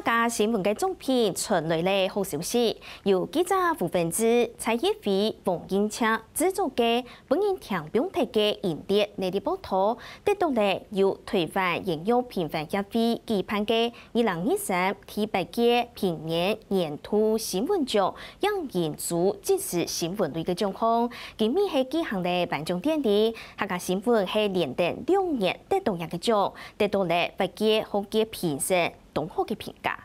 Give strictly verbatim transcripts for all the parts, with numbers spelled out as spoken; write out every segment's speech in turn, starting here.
客家新聞个獎品傳來了好消息，由記者胡文志、蔡一輝、黃英策製作个本人聽放忒个系列系列報導，得到了由台灣演藝評分協會舉辦个二零二三第八屆評演年度新聞獎影音組即時新聞類个獎項。今晡日係舉行了頒獎典禮，客家新聞係連等兩年得到這个獎，得到了八屆學界評審當好个評價。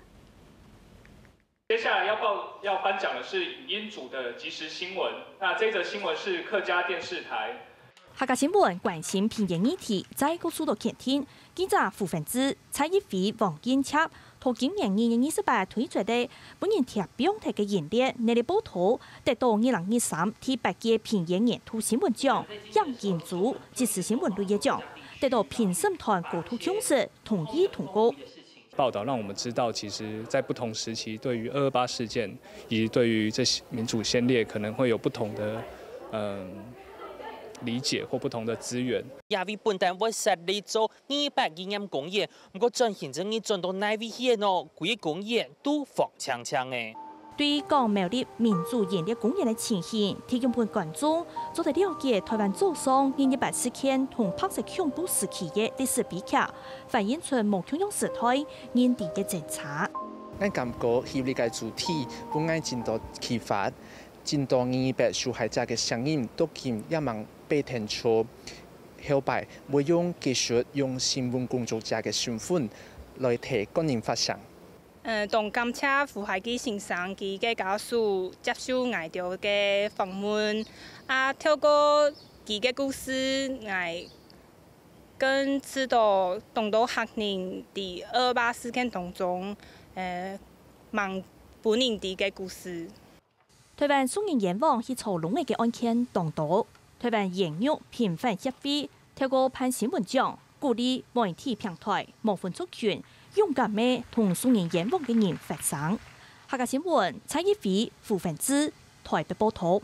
接下來要報要頒獎的是影音組的即時新聞。那這則新聞是客家電視台。客家新聞關心評演議題，再過受到肯定。記者胡文志、蔡一輝、黃英策，在今年二月二十八推出个本人貼標題个系列系列報導，得到二零二三第八屆評演年度新聞獎影音組即時新聞類个獎，得到評審團高度重視，同意通過。 报道让我们知道，其实在不同时期，对于二二八事件以及对于这些民主先烈，可能会有不同的嗯理解或不同的资源。這位本旦會設立做二二八紀念公園，毋過轉型正義轉到哪位去个呢？歸公園都荒淨淨个。 對於講苗栗民族演藝公園个情形，提供分觀眾做得了解台灣早上二二八事件同白色恐怖時期个歷史悲劇，反映出無共樣時代人民个掙扎。 𠊎感覺系列个主題分𠊎盡多啟發，盡多二二八受害者个聲音到今也吂被聽著。後擺會用繼續用新聞工作者个身份來替國人發聲。 嗯，當感謝胡海基先生佢个家屬接受𠊎兜个訪問，啊，透過佢个故事，𠊎更知道當多客人在二二八事件當中，呃，吂分人知个故事。 台灣送人冤枉去坐籠仔个案件當多，台灣冤獄平反協會透過頒新聞獎，鼓勵媒體平台無分族群，勇敢个同送人冤枉个人發聲。客家新聞蔡一輝、胡文志，台北報導。